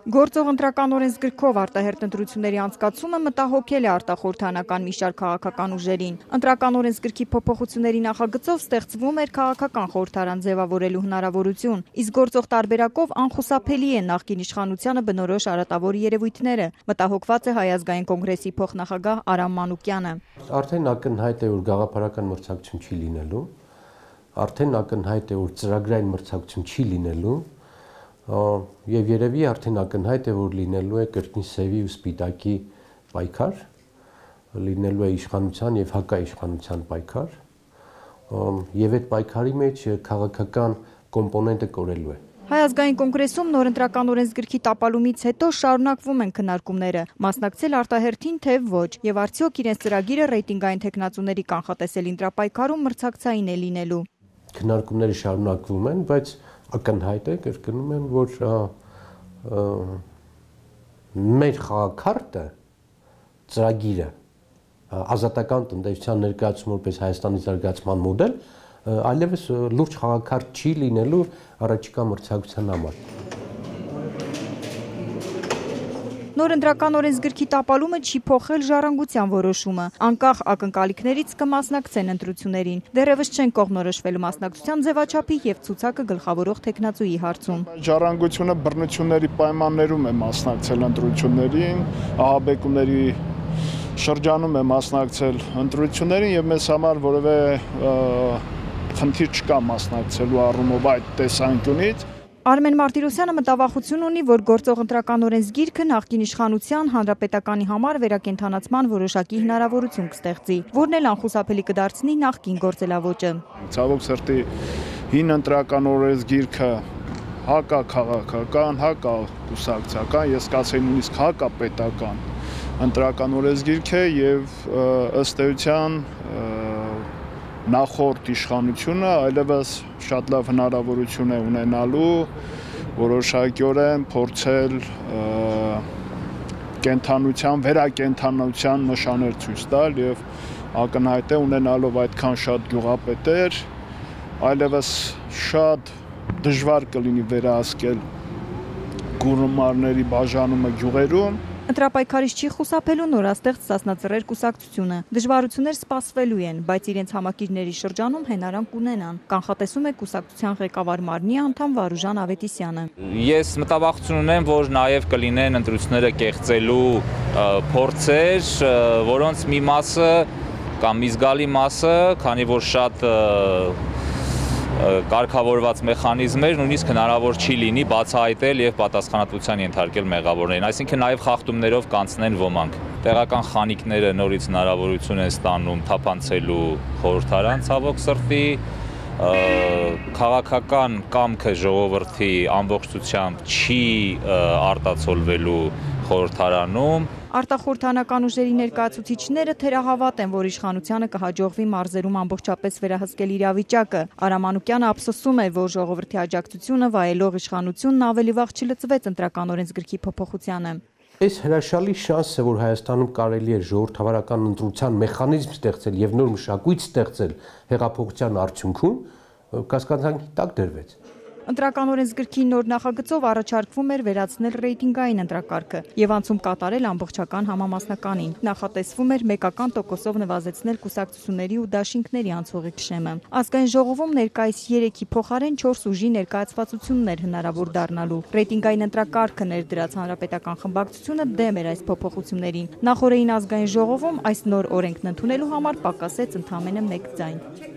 Գործող ընտրական օրենսգրքով արտահերթ ընտրությունների անցկացումը մտահոգել է արտախորհրդանական մի շարք քաղաքական ուժերին։ Ընտրական օրենսգրքի փոփոխությունների նախագծով ստեղծվում էր քաղաքական խորհրդարան ձևավորելու հնարավորություն, իսկ գործող տարբերակով անխուսափելի է նախկին իշխանությանը բնորոշ արատավոր երևույթները, մտահոգված է Հայ ազգային կոնգրեսի փոխնախագահ Արամ Մանուկյանը։ Արդեն ակնհայտ է, որ գաղափարական մրցակցություն չի լինելու, արդեն ակնհայտ է, որ ծրագրային մրցակցություն չի լինելու, եւ երևի արդեն ակնհայտ է, որ լինելու է կրկին սևի ու սպիտակի պայքար, լինելու է իշխանության եւ հակաիշխանության պայքար, եւ այդ պայքարի մեջ քաղաքական կոմպոնենտը կորելու է։ Հայ ազգային կոնգրեսում նոր ընտրական օրենսգրքի տապալումից հետո շարունակվում են քննարկումները, մասնակցել արտահերթին թե ոչ, եւ արդյոք իրենց ծրագիրը ռեյտինգային տեխնացուների կանխատեսել ընտրապայքարում մրցակցային է լինելու։ Քննարկումները շարունակվում են, բայց ակնհայտ է, կրկնում եմ, որ մեր խաղաքարտը, ծրագիրը, ազատական տնտեսության ներկայացումը որպես Հայաստանի զարգացման մոդել, այլևս լուրջ խաղաքարտ չի լինելու առաջիկա մրցակցության համար։ Նոր ընտրական օրենսգրքի տապալումը չի փոխել ժառանգության որոշումը, անկախ ակնկալիքներից կմասնակցեն ընտրություններին, դեռևս չեն կողմնորոշվել մասնակցության ձևաչափի եւ ցուցակը գլխավորող տեխնացուի հարցում։ Ժառանգությունը բռնությունների պայմաններում է մասնակցել ընտրություններին, ահաբեկումների շրջանում է մասնակցել ընտրություններին եւ մեզ համար որևէ խնդիր չկա մասնակցելու առումով այդ տեսանկյունից։ Արմեն Մարտիրոսյանը մտավախություն ունի, որ գործող ընտրական օրենսգիրքը նախկին իշխանության հանրապետականի համար վերակենդանացման որոշակի հնարավորություն կստեղծի, որն էլ անխուսափելի կդարձնի նախկին գործելավոճը։ Ցավոք սրտի հին ընտրական օրենսգիրքը հակաքաղաքական, հակակուսակցական, ես կասեի նույնիսկ հակապետական ընտրական օրենսգիրք է եւ ըստ էության նախորդ իշխանությունը այլևս շատ լավ հնարավորություն է ունենալու որոշակիորեն փորձել կենթանության, վերակենդանության նշաններ ցույց տալ եւ ակնհայտ է ունենալով այդքան շատ գյուղապետեր, այլևս շատ դժվար կլինի վերահսկել գումարների բաժանումը գյուղերում։ Ընտրապայքարից չի խուսափելու նորաստեղծ Սասնածռեր կուսակցությունը։ Դժվարություններ սպասվելու են, բայց իրենց համակիրների շրջանում հենարան կունենան, կանխատեսում է կուսակցության ղեկավար մարմնի անդամ Վարուժան Ավետիսյանը։ Ես մտավախություն ունեմ, որ նաև կլինեն ընտրությունները կեղծելու փորձեր, որոնց մի մասը կամ մի զգալի մասը, քանի որ շատ կարգավորված մեխանիզմեր նույնիսկ հնարավոր չի լինի բացահայտել եւ պատասխանատվության ենթարկել մեղավորներին, այսինքն նաեւ խախտումներով կանցնեն ոմանք։ Տեղական խանիկները նորից հնարավորություն են ստանում թափանցելու խորհրդարան, ցավոք սրտի, քաղաքական կամքը ժողովրդի ամբողջությամբ չի արտացոլվելու խորհրդարանում։ Արտախորհրդանական ուժերի ներկայացուցիչները թերահավատ են, որ իշխանությանը կհաջողվի մարզերում ամբողջապես վերահսկել իրավիճակը։ Արամ Մանուկյանը ափսոսում է, որ ժողովրդի աջակցությունը վայելող իշխանությունն ավելի վաղ չլծվեց ընտրական օրենսգրքի փոփոխությանը։ Այս հրաշալի շանս է, որ Հայաստանում կարելի է ժողովրդավարական ընտրության մեխանիզմ ստեղծել եւ նոր մշակույթ ստեղծել հեղափոխության արդյունքում, կասկածանքի տակ դրվեց։ Ընտրական օրենսգրքի նոր նախագծով առաջարկվում էր վերացնել ռեյտինգային ընտրակարգը եւ անցում կատարել ամբողջական համամասնականին։ Նախատեսվում էր մեկական տոկոսով նվազեցնել կուսակցությունների ու դաշինքների անցողիկ շեմը։ Ազգային ժողովում ներկայիս 3-ի փոխարեն 4 ուժի ներկայացվածությունն էր հնարավոր դառնալու։ Ռեյտինգային ընտրակարգը ներդրած հանրապետական խմբակցությունը դեմ էր այս փոփոխություններին։ Նախորդին ազգային ժողովում այս նոր օրենքն ընդունելու համար պակասեց ընդամենը 1 ձայն։